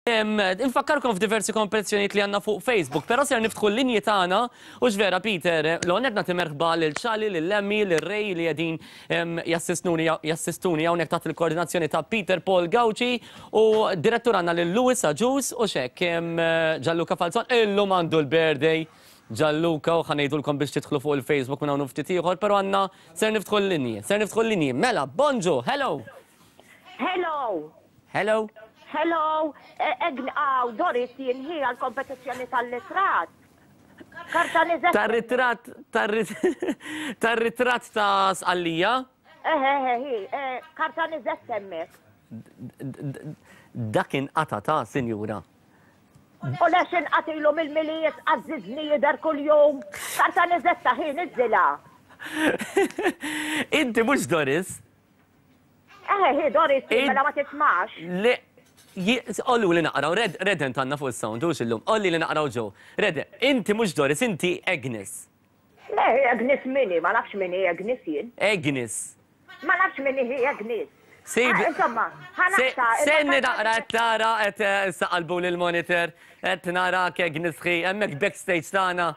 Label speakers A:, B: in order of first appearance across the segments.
A: Infakkarkom f'diversi kompetizzjonijiet li għandna fuq Facebook, però ser niftħu l-linji tagħna u vera Peter, l-għonet nagħti merħba lil Ċali, lil Emmy, lil Ray li qegħdin jassistuni jassistuni hawnhekk taħt il-koordinazzjoni ta' Peter Paul Gauci u direttur għandna lil Louis Agius u xek Gianluca Falzon illum għandu l-birthday Gianluca u ħa ngħidulkom biex tidħlu fuq il-Facebook minn hawn ftit ieħor, però għandna ser niftħu l-linji, ser niftħu l-linji. Mela, bonġu, hello.
B: Hello.
A: Hello.
B: Hello, Aw, Doris jien hi għall-kompetizzjoni tal-litrat. Karta niżet.
A: Tar-ritratt, tar-ritratt ta' Sqallija?
B: Eħe, eħe, hi, karta niżet hemmhekk.
A: Dak inqata' ta' sinjura.
B: U lex inqatilu mill-Milied għażżiżni jidher kuljum. Karta niżetta hi, niżżilha.
A: Inti mhux Doris.
B: Eħe, hi Doris, mela ma tismax.
A: Le, ollu li naqraw, Redent għandna fuq is-sound, hux illum, olli li naqraw ġew. Rede, inti mhux Doris, inti Agnes.
B: Le, Agnes mini, ma nafx mini Agnes jien.
A: Agnes.
B: Ma nafx mini hi Agnes.
A: Sib.
B: Ah, insomma, ħanaqta.
A: Senni naqra qed tara qed saqalbu lil monitor qed narak Agnes ħi, hemmhekk backstage tagħna.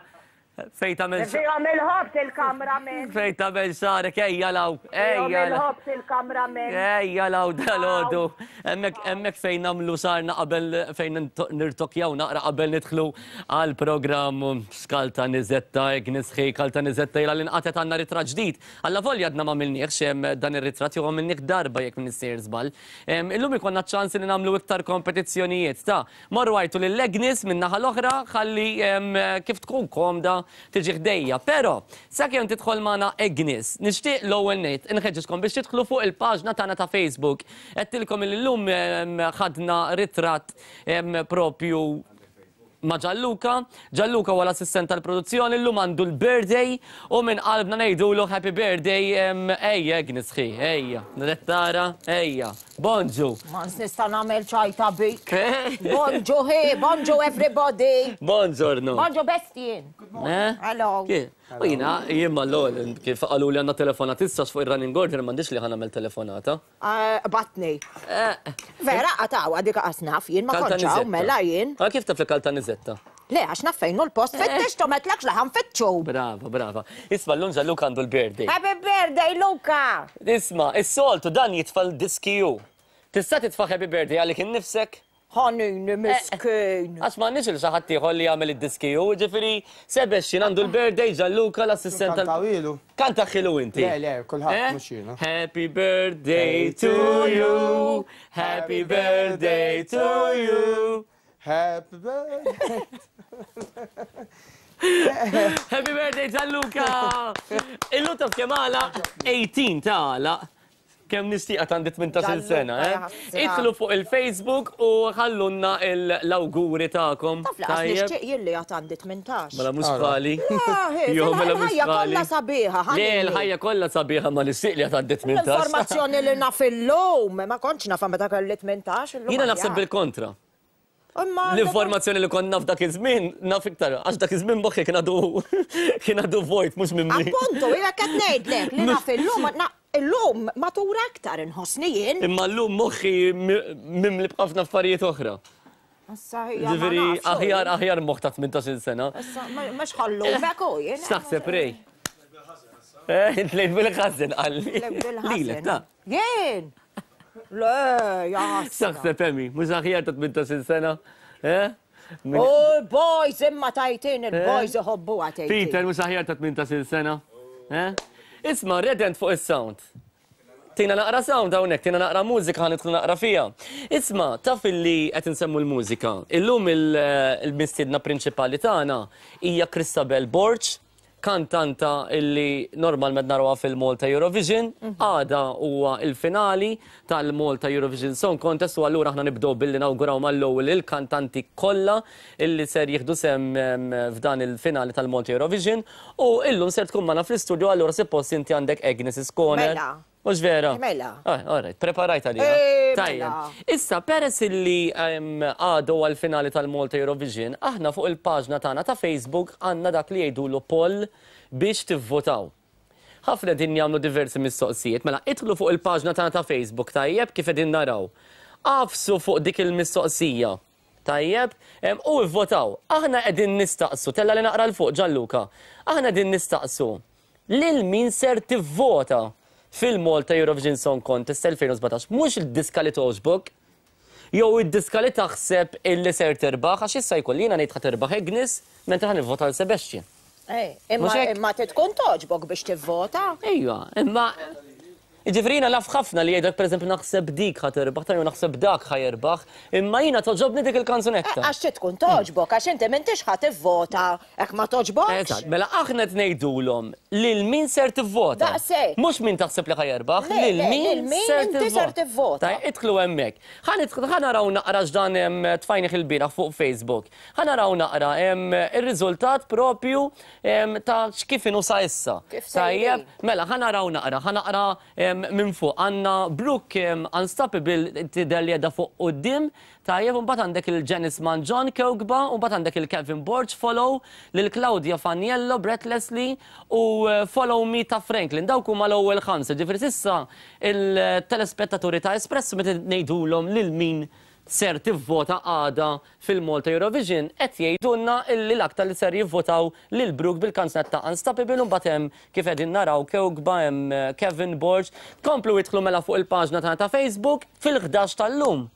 A: Fejn tagħmel
B: Fihom il-ħobż il-cameraman.
A: Fejn tagħmel xagħrek ejja law.
B: Fihom il-ħobż il-cameraman.
A: Ejja law dalgħodu. Hemmhekk hemmhekk fejn nagħmlu xagħarna qabel fejn nirtokjaw naqra qabel nidħlu għall-programm Skalta Niżetta Agnes ħi Kalta Niżetta ilha li nqatgħet għandna ritratt ġdid. Allavolja għadna m'għamilniehx dan ir-ritratt jew għamilnieh darba jekk m'iniex sejjer żball. Illum ikollna ċ-ċans li nagħmlu iktar kompetizzjonijiet ta' Morru għajtu lil Agnes min-naħa l-oħra ħalli kif tkun komda tiġi ħdejja. Però, sakemm tidħol magħna Agnes, nixtieq l-ewwel nett inħeġġiġkom biex tidħlu fuq il-paġna tagħna ta' Facebook. Għedtilkom illi llum ħadna ritratt propju ma' Gianluca. Gianluca huwa l-assistent tal-produzzjoni, llum għandu l-birthday u minn qalbna ngħidulu happy birthday. Ejja Agnes ħi, ejja. Qed tara, ejja. Bonġu.
B: Ma nista' nagħmel ċajta bik. Bonġu hi, bonġu everybody.
A: Bonġorno.
B: Bonġu bestien.
A: Eh?
B: Hello.
A: U jiena, jien mal-ewwel kif qalu li għandna telefonat issa fuq ir-running order m'għandix li ħa nagħmel telefonata.
B: Eh, batni. Eh. Vera qataw dik qas naf jien ma kontx hawn mela jien.
A: Ma kif taf li Kaltanizetta?
B: Le, għax naf fejn hu l-post, fittixtu m'għedtlekx li ħa nfittxu.
A: Brava, brava. Isma' llum Gianluca għandu l-birthday.
B: Happy birthday, Luca!
A: Isma', is-soltu dan jitfa' l-diski hu. Tista' titfa' happy birthday għalik innifsek?
B: Ħanini miskin.
A: Għax m'għandniex lil xi ħadd ieħor li jagħmel id-diski hu, jiġifieri Sebastian għandu l-birthday, Gianluca l-assistent tal.
C: Kantawilu.
A: Kantahilu inti.
C: Le, le, kulħadd mhux jiena.
A: Happy birthday to you, happy birthday to you.
C: Happy birthday.
A: Happy birthday Gianluca! Illum taf kemm għalaq? 18 ta' għalaq. Kemm nixtieqa għandi 18-il sena, eh? Idħlu fuq il-Facebook u ħallunna l-awguri tagħkom.
B: Taf li qas nixtieq jien li għad għandi 18.
A: Mela mhux bħali.
B: Jo, mela mhux Il-ħajja kollha sabiħa.
A: Le, il-ħajja kollha sabiħa ma nixtieq li għad għandi 18.
B: L-informazzjoni li naf illum ma kontx nafha meta kelli 18 illum.
A: Jiena naħseb bil-kontra. L-informazzjoni li kont naf dak iż-żmien, naf iktar, għax dak iż-żmien moħħi kien għadu kien għadu vojt mhux mimli.
B: Appuntu, jiena qed ngħidlek li naf illum illum matura aktar inħossni jien.
A: Imma llum moħħi mimli b'ħafna affarijiet oħra.
B: Issa hija.
A: Ġifieri aħjar aħjar moħħ ta' 18-il sena.
B: Issa mhux ħallumek u jien.
A: X'taħseb Ray? Eh, tlejt bil-ħażin qalli. Lilek ta'.
B: Jien! Le, jaħasra.
A: X'taħseb Emi, mhux aħjar ta' 18-il sena? Eh?
B: U boys imma tajtin il-boys iħobbuha tgħid.
A: Peter mhux aħjar ta' 18-il sena? Eh? Isma' redent fuq is-sound. Tina naqra sound hawnhekk, tina naqra mużika ħa nidħlu naqra fiha. Isma' taf illi qed insemmu l-mużika. Illum il-mistiedna prinċipali tagħna hija Christabel Borg, kantanta illi normalment narawha fil-Malta Eurovision, għada huwa il-finali tal-Malta Eurovision Song Contest u allura aħna nibdew billi nawguraw mal-ewwel il-kantanti kollha illi ser jieħdu sehem f'dan il-finali tal-Malta Eurovision u illum ser tkun magħna fl-istudio allura suppost inti għandek Agnes Iskoner.
B: Mela.
A: Mhux vera?
B: Mela.
A: Ah, all right, preparajt għalija.
B: Eh,
A: Tajjeb.
B: mela.
A: Issa, peress illi għadu għal-finali tal-Malta Eurovision, aħna fuq il-paġna tagħna ta' Facebook għandna dak li jgħidulu poll biex tivvotaw. Ħafna qegħdin jagħmlu diversi mistoqsijiet, mela idħlu fuq il-paġna tagħna ta' Facebook tajjeb kif qegħdin naraw. Agħfsu fuq dik il-mistoqsija. Tajjeb, u ivvotaw. Aħna qegħdin nistaqsu, tella li naqra 'l fuq Gianluca. Aħna qegħdin nistaqsu lil min ser tivvota fil-Malta Eurovision Song Contest 2017. Mhux id-diska li togħġbok, jew id-diska li taħseb illi ser tirbaħ, għax issa jkolli jiena ngħid ħa tirbaħ Agnes, mentri ħa nivvota għal Sebastian.
B: Imma imma trid tkun togħġbok biex tivvota.
A: Ejwa, imma Jiġifieri jiena naf ħafna li jgħidlek pereżempju naħseb dik ħa tirbaħ, ta' jew naħseb dak ħa jirbaħ, imma jiena togħġobni dik il-kanzunetta.
B: Għax trid tkun togħġbok, għax inti m'intix ħa tivvota hekk ma togħġbokx.
A: Eżatt, mela aħna qed ngħidulhom lil min ser tivvota.
B: Daqshekk.
A: Mhux min taħseb li ħa jerbaħ, lil min
B: inti ser tivvota.
A: Tajjeb, idħlu hemmhekk. Ħa nidħlu, ħa naraw naqra x'dan tfajnih ilbieraħ fuq Facebook. Ħa naraw naqra ir-riżultat propju ta' x'kif inhu sa issa.
B: Kif sejrin.
A: Tajjeb, mela ħa naraw naqra, ħa naqra minn fuq. Għandna Brooke Unstoppable tidher li qiegħda fuq quddiem, tajjeb, u mbagħad għandek il Janice Mangion Kewkba, u mbagħad għandek il Kevin Borg Follow, lil Claudia Faniello Breathlessly u Follow Me ta' Franklin. Dawk huma l-ewwel ħamsa. Ġifieri s'issa il-telespettaturi ta' Espresso meta ngħidulhom lil min ser tivvota għada fil-Malta Eurovision qed jgħidulna illi l-aktar li ser jivvotaw lil Brooke bil-kanzunetta Unstoppable u mbagħad hemm kif qegħdin naraw Kewkba hemm Kevin Borg. Komplu idħlu mela fuq il-paġna tagħna ta' Facebook fil-11 tal-lum.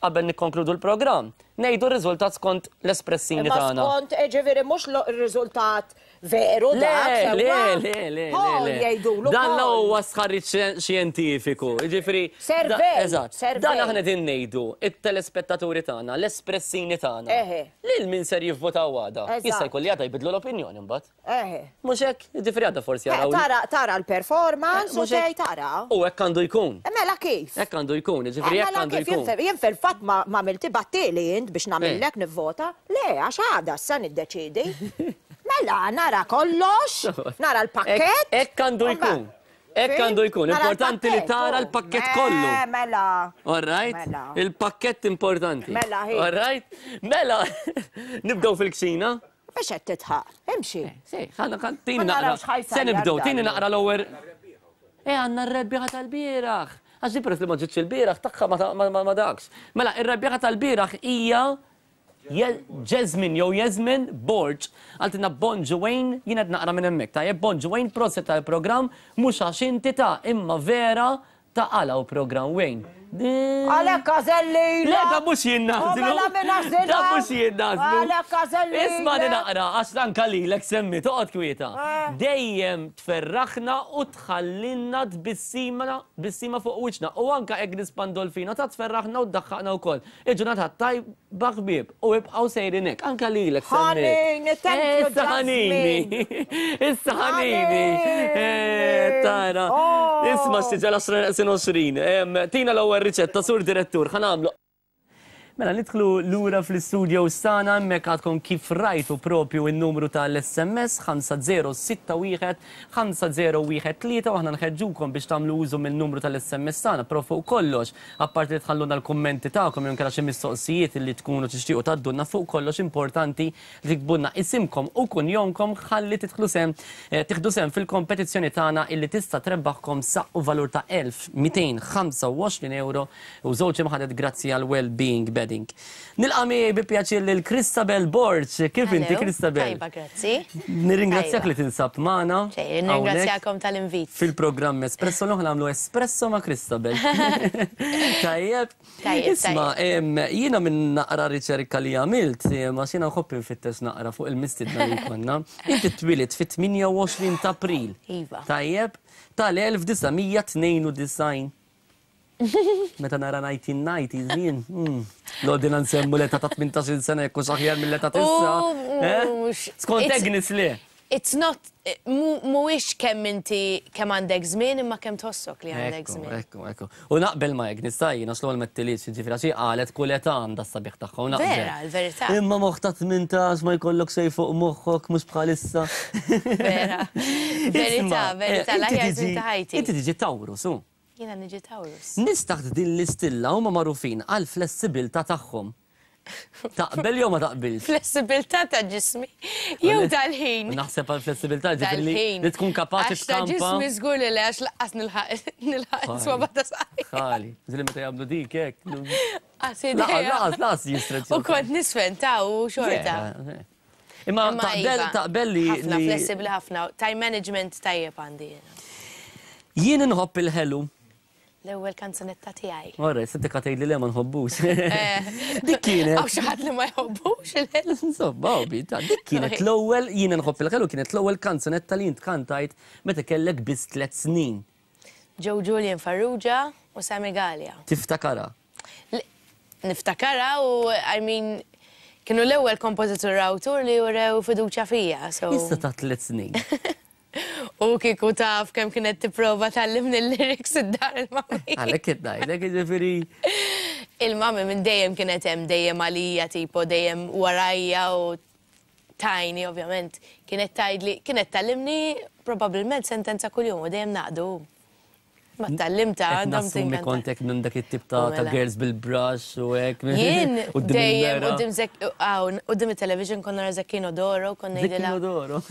A: Qabel nikkonkludu l-programm, ngħidu r-riżultat skont l-espressini
B: Imma
A: tagħna.
B: skont, ġifieri mhux r-riżultat veru
A: Le,
B: dak,
A: le,
B: sewwa?
A: le, le, le,
B: Poll
A: le.
B: jgħidulu
A: Dan la
B: poll.
A: huwa stħarriġ xjentifiku. Jiġifieri,
B: Survey,
A: eżatt.
B: survey.
A: Dan aħna qegħdin ngħidu it-telespettaturi tagħna, l-espressini tagħna.
B: Eħe.
A: Lil min ser jivvotaw għada.
B: Eżatt.
A: Jista' jkun li għada jbidlu l-opinjoni mbagħad.
B: Eħe.
A: Mhux hekk, jiġifieri għada forsi jaraw.
B: Tara, tara l-performance u
A: Mhux hekk.
B: tgħid tara.
A: U hekk għandu jkun.
B: Mela kif?
A: Hekk għandu jkun, jiġifieri hekk
B: Mela
A: għandu
B: kif jien
A: jkun.
B: jien fil-fatt ma għamilti battili int biex nagħmillek nivvota. Le, għax għada issa niddeċidi. Mela nara kollox, nara l-pakkett.
A: Hekk għandu jkun. Hekk għandu jkun.
B: Nara
A: Importanti li
B: l-pakkett,
A: tara
B: oh.
A: l-pakkett kollu.
B: Mela.
A: All right?
B: Mela.
A: Il-pakkett importanti.
B: Mela, hi.
A: All right? Mela, nibdew fil-kċina.
B: Biex qed titħaq. Imxi.
A: Si, ħana kan tini
B: Ma
A: naqra.
B: narawx ħajsajjar
A: Se nibdew, tini
B: dan.
A: naqra l-ewwel. E għandna r-rebbieħa tal-bieraħ. Għax di peress li ma ġietx il-bieraħ tagħha ma dakx. Mela, ir-rebbieħa tal-bieraħ hija Jasmine jew Jasmine Borg. Qaltilna Bonġu Wayne, jien qed naqra minn hemmhekk. Tajjeb, Bonġu Wayne, proset tal-programm, mhux għax inti ta' imma vera ta' għala u programm Wayne.
B: Għalhekk għażelli.
A: Le, da mhux jien nażlu.
B: Mela min għażilha?
A: Da mhux jien nażlu.
B: Għalhekk għażelli.
A: Isma' naqra, għax anka lilek semmi, toqgħod kwieta. Dejjem tferraħna u tħallinna tbissima tbissima fuq wiċċna. U anka Agnes Pandolfino ta' tferraħna u tdaħħaqna wkoll. Il-ġurnata tajba ħbieb u ibqgħu sejrin hekk. Anka lilek semmi.
B: Ħanini, thank you,
A: Issa ħanini. Issa ħanini.
B: Ħanini.
A: Tara.
B: Oh.
A: Isma' xtiġa l-10 20. Tina l-ewwel riċetta sur direttur, ħa nagħmlu. Mela, nidħlu lura fl-studio sana, hemmhekk għadkom kif rajtu propju il-numru tal-SMS 5061 5013 u aħna nħeġġukom biex tagħmlu użu mill-numru tal-SMS tagħna, però fuq kollox, apparti li tħalluna l-kummenti tagħkom jew inkella xi mistoqsijiet li tkunu tixtiequ tgħaddulna fuq kollox importanti li tiktbulna isimkom u kunjomkom ħalli tidħlu sem tieħdu sem fil-kompetizzjoni tagħna illi tista' trebbaħkom saqq u valur ta' 1225 euro u żewġ imħadet grazzi għal well-being bedding. Nilqa' miegħi bi pjaċir lil Christabel Borg. Kif inti
D: Hello.
A: Christabel?
D: Tajba, grazzi.
A: Nirringrazzjak
D: Tajba.
A: li tinsab magħna.
D: Xejn,
A: hawnhekk
D: nirringrazzjakom tal-invit.
A: Fil-programm Espresso l nagħmlu espresso ma' Christabel. Tajjeb.
D: Tajjeb,
A: Isma, jiena minn naqra riċerka li għamilt, ma xina nħobb infittex naqra fuq il-mistidna li konna. Inti twilit fit-28 ta' April.
D: Iva.
A: Tajjeb, tal-1992. Meta nara 1990 żmien. L-ordina nsemmu l-età ta' 18 sena jekk hux aħjar mill-età t'issa. Eh? Skont Agnes le.
D: It's not, mhuwiex kemm inti kemm għandek żmien imma kemm tħossok li għandek żmien.
A: Ekku, ekku. U naqbel ma' Agnes tajjin, għax l-ewwel mettilix, ġifieri għax hi qalet kull età għandha s-sabiħ tagħha u naqbel.
D: Vera, l-verità.
A: Imma moħħ ta' 18 ma jkollok xejn fuq moħħok mhux bħalissa.
D: Vera. Verità,
A: Isma',
D: verità,
A: inti
D: l-aħjar
A: tiġi-
D: żmien ta' ħajti.
A: Inti tiġi Taurus, u?
D: Jiena niġi Taurus.
A: Nies taħt din l-istilla huma magħrufin għal flessibilità tagħhom. Taqbel jew ma taqbilx?
D: Flessibilità ta' ġismi jew tal-ħin.
A: Naħseb għal flessibilità ġifieri li tkun kapaċi
D: tkampa. Ta' ġismi żgur li le għax laqqas nilħaq nilħaq swaba ta' saqaj.
A: Ħali, ġieli meta jagħmlu dik hekk. Laqas laqas jistreċ.
D: U kont nisfen ta' u xorta.
A: Imma taqbel iva, taqbel li.
D: Ħafna flessibbli ħafna, time management tajjeb għandi.
A: Jien inħobb il-ħelu.
D: L-ewwel kanzunetta tiegħi.
A: Ora, se tika tgħidli le ma nħobbux. Eh. Dik kienet.
D: Hawn xi ħadd li ma jħobbux il-ħelu.
A: Insomma, bi, dik kienet l-ewwel jien inħobb il-ħelu kienet l-ewwel kanzunetta li int kantajt meta kellek biss tliet snin.
D: Joe Julian Farrugia u Sammy Galea.
A: Tiftakara?
D: Niftakara u I mean kienu l-ewwel kompożitur awtur li urew fiduċja fija.
A: Issa ta' tliet snin.
D: U kieku taf kemm kienet tipprova tgħallimni l-lyrics id-dar il-mami.
A: Għalhekk qed ngħidlek, jiġifieri.
D: Il-mami minn dejjem kienet hemm dejjem għalija tipo dejjem warajja u tajni ovvjament. Kienet tgħidli, kienet tgħallimni probabbilment sentenza kuljum u dejjem naqdu. Ma tgħallimtha
A: Qed nassumi kont hekk minn dak it-tip ta' ta' girls bil-brush u hekk.
D: Jien dejjem quddiem Zek hawn quddiem it-television kont nara Zecchino d'Oro kont ngħidilha.
A: Zecchino d'Oro.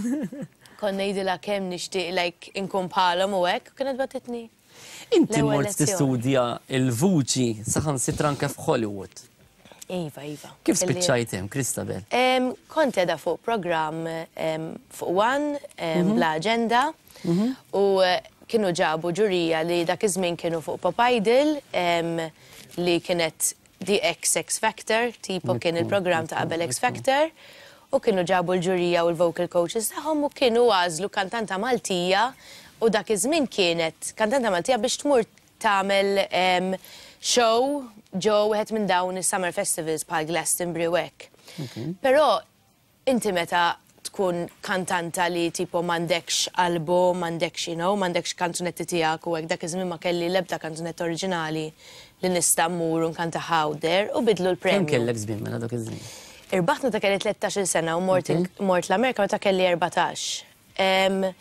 D: Kont ngħidilha kemm nixtieq like inkun bħalhom u hekk u kienet bagħtitni.
A: Inti mort tistudja l-vuċi saħansitra anke f'Hollywood.
D: Iva, iva.
A: Kif spiċċajt hemm, Christabel?
D: Kont qiegħda fuq programm fuq One, Bla Aġenda, u kienu ġabu ġurija li dak iż-żmien kienu fuq Pop Idol, li kienet The X X Factor, tipo kien il-programm ta' qabel X Factor, u kienu ġabu l-ġurija u l-vocal coaches tagħhom u kienu għażlu kantanta Maltija u dak iż-żmien kienet kantanta Maltija biex tmur tagħmel show ġo wieħed minn dawn is-summer festivals bħal Glastonbury u hekk. Però inti meta tkun kantanta li tipo m'għandekx album, m'għandekx you know, m'għandekx kanzunetti tiegħek u hekk dak iż-żmien ma kelli l-ebda kanzunetta oriġinali li nista' mmur u nkantaha out there u bidlu l-premju.
A: Kemm kellek żmien mela dak iż-żmien?
D: Irbaħt meta kelli 13-il sena u mort mort l-Amerika meta kelli 14.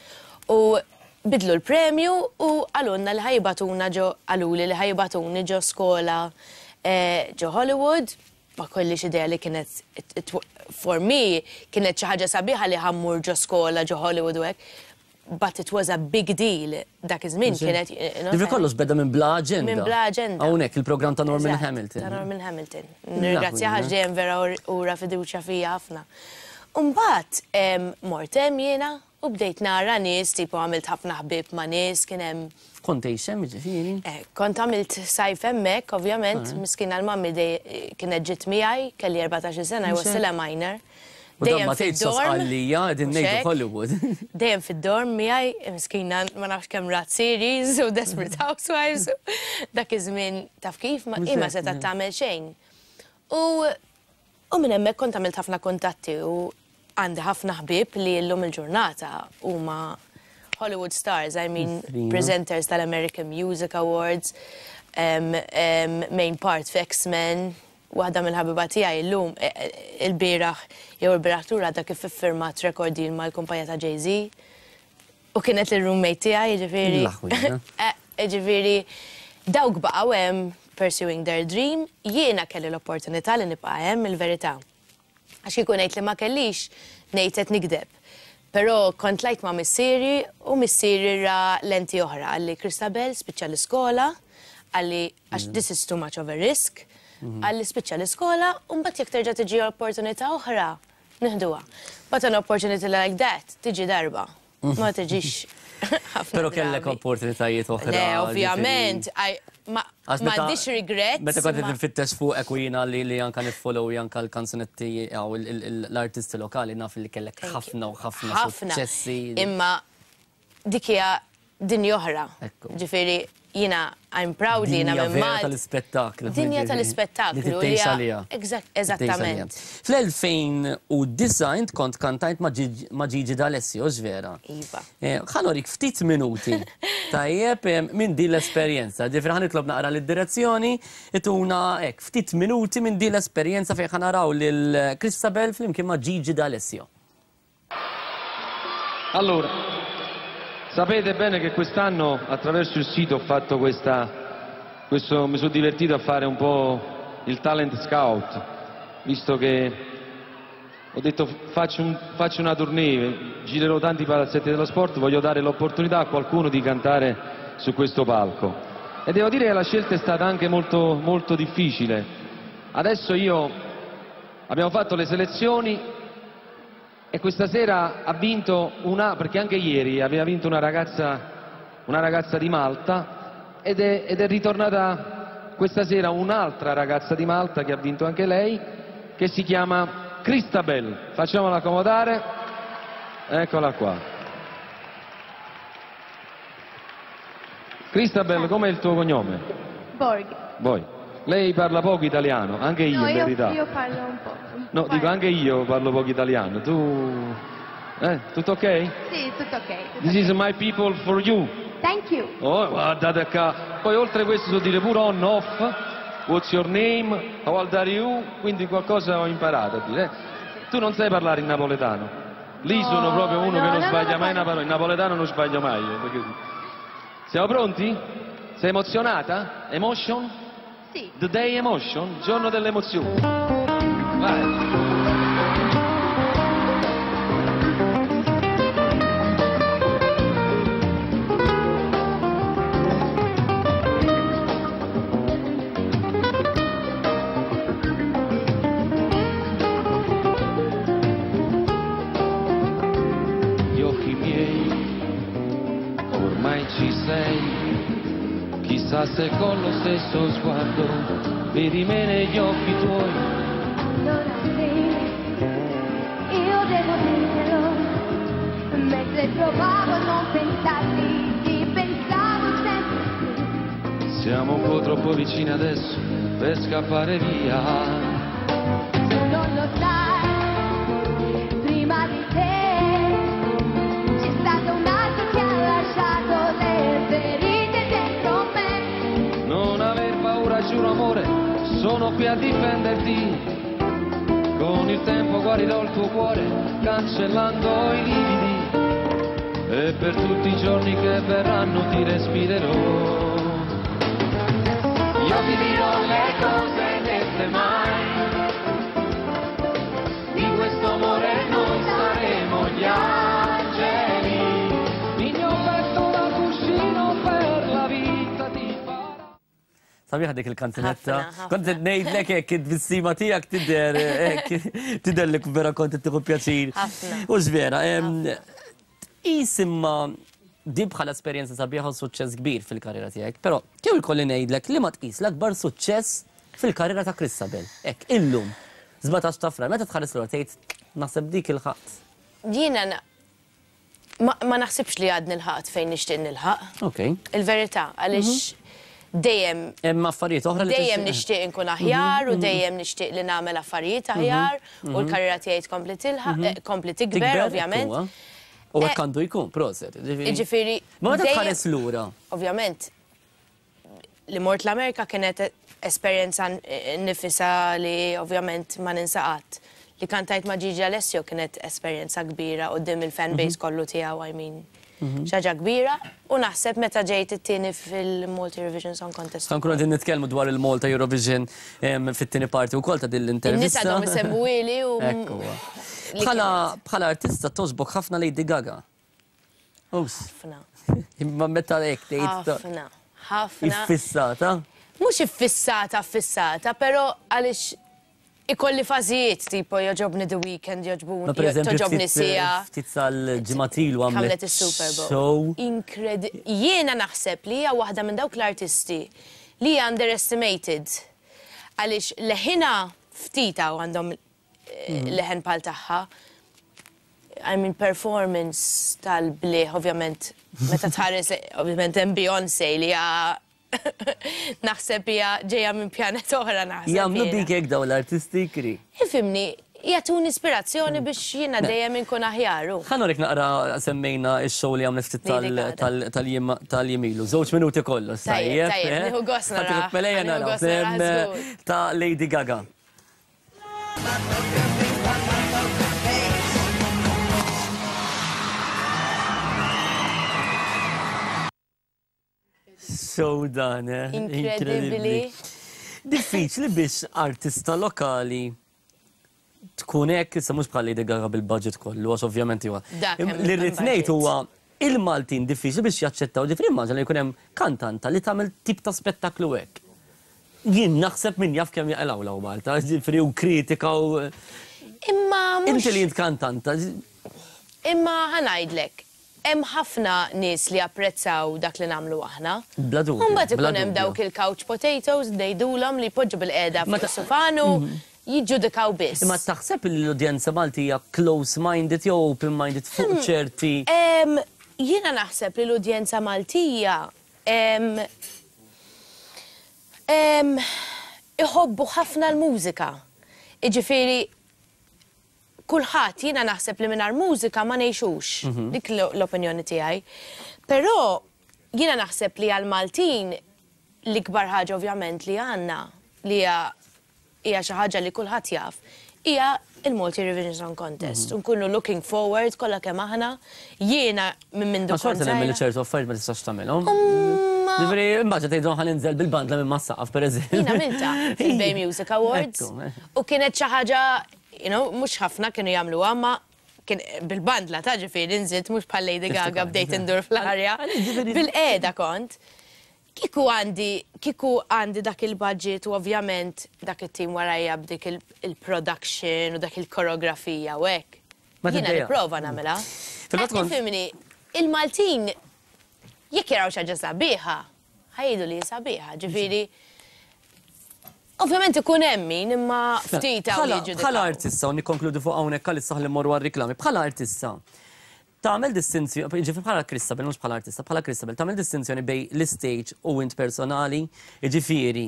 D: U bidlu l-premju u qalulna li ħa jibagħtuna ġo, qaluli li ħa jibagħtuni ġo skola ġo Hollywood. Ma kellix idea li kienet, for me, kienet xi ħaġa sabiħa li ħa mmur ġo skola ġo Hollywood u hekk. But it was a big deal dak iż-żmien kienet.
A: Ġifieri kollox beda minn Bla Aġenda.
D: Minn Bla Aġenda.
A: Hawnhekk il-programm ta' Norman Hamilton.
D: Ta' Norman Hamilton. Nirringrazzjah għax dejjem vera ura fiduċja fija ħafna. U mbagħad mort hemm jiena u bdejt nara nies, tipo għamilt ħafna ħbieb ma' nies, kien hemm.
A: Kont tgħix hemm jiġifieri?
D: Eh, kont għamilt sajf hemmhekk, ovvjament, miskina l-mummy kienet ġiet miegħi, kelli 14-il sena, I was still a minor.
A: U dan ma tgħidx sa Sqallija, qegħdin ngħidu Hollywood.
D: Dejjem fid-dorm miegħi, miskina ma nafx kemm rat series u Desperate Housewives. Dak iż-żmien taf kif, hi ma setgħet tagħmel xejn. U U minn hemmhekk kont għamilt ħafna kuntatti u għandi ħafna ħbieb li llum il-ġurnata huma Hollywood stars, I mean presenters tal-American Music Awards, main part f'X-Men, waħda mill-ħabiba tiegħi llum ilbieraħ jew ilbieraħ lura għadha kif iffirmat record deal mal-kumpanija ta' Jay-Z u kienet il-roommate tiegħi, jiġifieri. Jiġifieri dawk baqgħu hemm pursuing their dream, jiena kelli l-opportunità li nibqa' hemm il-verità. Għax kieku ngħid li ma kellix, ngħid qed nigdeb. Però kont tlajt ma' missieri u missieri ra lenti oħra, qalli Christabel spiċċa l-iskola, qalli għax this is too much of a risk, qalli spiċċa l-iskola u mbagħad jekk terġa' tiġi opportunità oħra, Nieħduha. But an opportunity like that tiġi darba. Ma tiġix ħafna.
A: Però kellek opportunitajiet oħra.
D: Le, ovvjament, m'għandix regrets.
A: Meta kont qed nfittex fuqek u jiena li anke niffollow anke l-kanzunetti jew l-artisti lokali naf li kellek ħafna u ħafna suċċessi.
D: Imma dik hija dinja oħra. Ġifieri jiena I'm proud li jiena minn Malta.
A: Dinja tal-ispettaklu.
D: Dinja tal-ispettaklu.
A: Li tgħix għaliha.
D: Eżattament.
A: Fl-2009 int kont kantajt ma' Gigi D'Alessio, hux vera?
D: Iva.
A: Ħa norik ftit minuti, tajjeb, minn din l-esperjenza. Ġifieri ħa nitlob naqra lid-direzzjoni ituna hekk ftit minuti minn din l-esperjenza fejn ħa naraw lil Christabel flimkien ma' Gigi D'Alessio.
E: Allora, sapete bene che quest'anno attraverso il sito ho fatto questa, questo, mi sono divertito a fare un po' il talent scout. visto che ho detto faccio, un, faccio una tournée, girerò tanti palazzetti dello sport, voglio dare l'opportunità a qualcuno di cantare su questo palco. E devo dire che la scelta è stata anche molto, molto difficile. Adesso io abbiamo fatto le selezioni e questa sera ha vinto una, perché anche ieri aveva vinto una ragazza, una ragazza di Malta ed è, ed è ritornata questa sera un'altra ragazza di Malta che ha vinto anche lei, che si chiama Christabel. Facciamola accomodare. Eccola qua. Christabel, com'è il tuo cognome?
F: Borg.
E: Voi. Lei parla poco italiano, anche io
F: no,
E: in
F: io,
E: verità.
F: io parlo un po'. un
E: No,
F: po'.
E: dico anche io parlo poco italiano. Tu... Eh, tutto ok?
F: Sì, tutto ok. tutto
E: This is my people for you.
F: Thank you.
E: Oh, guardate qua. Poi oltre questo so dire pure on, off, what's your name, how old are you, quindi qualcosa ho imparato a dire. eh. Tu non sai parlare in napoletano. Lì
F: No,
E: sono proprio uno
F: no,
E: che non
F: no, no,
E: sbaglia
F: no,
E: mai
F: no.
E: una parola. In napoletano non sbaglio mai. eh, perché- Siamo pronti? Sei emozionata? Emotion?
F: Sì.
E: The day emotion, giorno dell'emozione. Vai. Gli occhi miei, ormai ci sei, chissà se con lo stesso sguardo vedi me negli occhi tuoi.
F: Allora sì, io devo dirtelo, mentre provavo a non pensarti, ti pensavo sempre più.
E: Siamo un po' troppo vicini adesso per scappare via.
F: Tu non lo sai, prima di te c'è stato un altro che ha lasciato le ferite dentro me.
E: Non aver paura, giuro amore, sono qui a difenderti. Con il tempo guarirò il tuo cuore, cancellando i lividi. E per tutti i giorni che verranno ti respirerò. Io ti dirò le cose dette mai. Di questo amore noi saremo gli angeli. Il mio petto da cuscino per la vita ti farà.
A: Sabiħa dik il-kanzunetta.
D: Ħafna, ħafna.
A: Kont qed ngħidlek hekk it-tbissima tiegħek tidher hekk tidher li vera kont qed tieħu pjaċir.
D: Ħafna.
A: U vera, tqis imma di bħala esperjenza sabiħa u suċċess kbir fil-karriera tiegħek, però kieku jkolli ngħidlek li ma tqis l-akbar suċċess fil-karriera ta' Christabel. Hekk illum 17 ta' Frar, meta tħares lura tgħid naħseb dik il-ħadd.
D: Jiena na- ma, ma naħsibx li għad nilħaqt fejn nixtieq nilħaq.
A: Ok.
D: Il-verità, għaliex dejjem
A: Hemm affarijiet oħra li
D: dejjem
A: tixtieq-
D: nixtieq inkun aħjar u dejjem nixtieq li nagħmel affarijiet aħjar u l-karriera tiegħi tkompli tilħaq, eh, kompli tikber
A: Tikber,
D: ovvjament.
A: huwa. U hekk
D: Eh,
A: għandu jkun, proset.
D: Jiġifieri
A: Ma meta
D: dejjem-
A: tħares lura.
D: Ovvjament, li mort l-Amerika kienet esperjenza nifisa li ovvjament ma ninsa qatt. Li kantajt ma' Gigi Alessio kienet esperjenza kbira quddiem il-fan base kollu tiegħu, I mean. Xi ħaġa kbira u naħseb meta ġejt it-tieni fil-Malta Eurovision Song Contest.
A: Sa nkunu qegħdin nitkellmu dwar il-Malta Eurovision fit-tieni parti wkoll ta' din
D: In-nies
A: l-intervista.
D: għadhom isemmuili u
A: Ekku. huwa.
D: li
A: Bħala
D: kienet.
A: bħala artista toġbok ħafna Lady Gaga. Ups,
D: Ħafna.
A: imma meta hekk tgħid
D: Ħafna. Ħafna.
A: iffissata.
D: Mhux iffissata, affissata, però għaliex ikolli fażijiet tipo joġobni The Weeknd, joġbuni,
A: Ma per eżempju
D: toġobni
A: ftit
D: sija.
A: ftit sal-ġimgħat ilu għamlet
D: Għamlet is-Super Bowl.
A: show.
D: Inkredi. Jiena naħseb li hija waħda minn dawk l-artisti li hija underestimated. Għaliex leħina ftita u għandhom eh, leħen pal tagħha. I mean, performance tal-bliħ, ovvjament, meta tħares, ovvjament, hemm Beyoncé li hija naħseb hija ġejja minn pjanet oħra naħseb.
A: Jagħmlu
D: jiena.
A: dik hekk dawn l-artisti kri.
D: Ifimni, jagħtuni ispirazzjoni biex jiena dejjem inkun aħjar. u.
A: Ħa nurik naqra semmejna x-show li għamlet ftit
D: Lady Gaga.
A: tal-jiem ilu. Żewġ minuti kollox,
D: Tajjeb,
A: tajjeb.
D: tajjeb,
A: eh?
D: nieħu gost
A: Ħa
D: nara,
A: tieħu melejja
D: ħa nieħu
A: naraw,
D: gost nara, żgur.
A: Ta' Lady Gaga. Show dan, eh?
D: Incredibly.
A: Diffiċli biex artista lokali tkun hekk, issa mhux bħal Lady Gaga bil-budget kollu, għax ovvjament huwa. Li rrid ngħid huwa il-Maltin diffiċli biex jaċċettaw, ġifieri immaġina li jkun hemm kantanta li tagħmel tip ta' spettaklu hekk. Jien naħseb min jaf kemm jaqilgħu 'l hawn Malta, ġifieri u kritika u.
D: Imma mhux.
A: Inti li int kantanta.
D: Imma ħa ngħidlek, Hemm ħafna nies li japprezzaw dak li nagħmlu aħna.
A: Bla dubju.
D: U mbagħad ikun hemm dawk il-couch potatoes, ngħidulhom, li jpoġġu bilqiegħda fuq is-sufan u jiġġudikaw biss.
A: Imma taħseb li l-udjenza Maltija close-minded jew open-minded fuq ċerti.
D: Jiena naħseb li l-udjenza Maltija iħobbu ħafna l-mużika. Jiġifieri kulħadd, jiena naħseb li mingħajr mużika ma ngħixux, dik l-opinjoni tiegħi. Però jiena naħseb li għall-Maltin l-ikbar ħaġa ovvjament li għandna li hija hija xi ħaġa li kulħadd jaf, hija il-Malta Eurovision Song Contest. U nkunu looking forward kollha kemm aħna, jiena minn mindu
A: kont. Ma xorta nemmen li ċertu affarijiet ma tistax tagħmilhom. Ġifieri, immaġina tgħidilhom ħa ninżel bil-bandla minn mas-saqaf pereżempju.
D: Jien għamiltha fil-Bay Music Awards u kienet xi ħaġa You know, mhux ħafna kienu jagħmluha, ma kien bil-bandla ta' ġifieri nżilt mhux bħal Lady Gaga bdejt indur fl-arja. Bil-qiegħda kont. Kieku għandi, kieku għandi dak il-budget u ovvjament dak it-tim warajja b'dik il-production u dak il-koreografija u hekk. Jiena nipprova nagħmilha. Ifhimni, il-Maltin jekk jaraw xi ħaġa sabiħa, Ħa jgħidu li hi sabiħa, ġifieri Ovvjament ikun hemm min imma ftit hawn li jiġġudikaw.
A: Bħala artista, u nikkonkludi fuq hawnhekk għalissa ħalli mmorru għar-riklami, bħala artista, tagħmel distinzjoni, jiġifieri bħala Christabel, mhux bħala artista, bħala Christabel, tagħmel distinzjoni bejn l-istage u int personali, jiġifieri,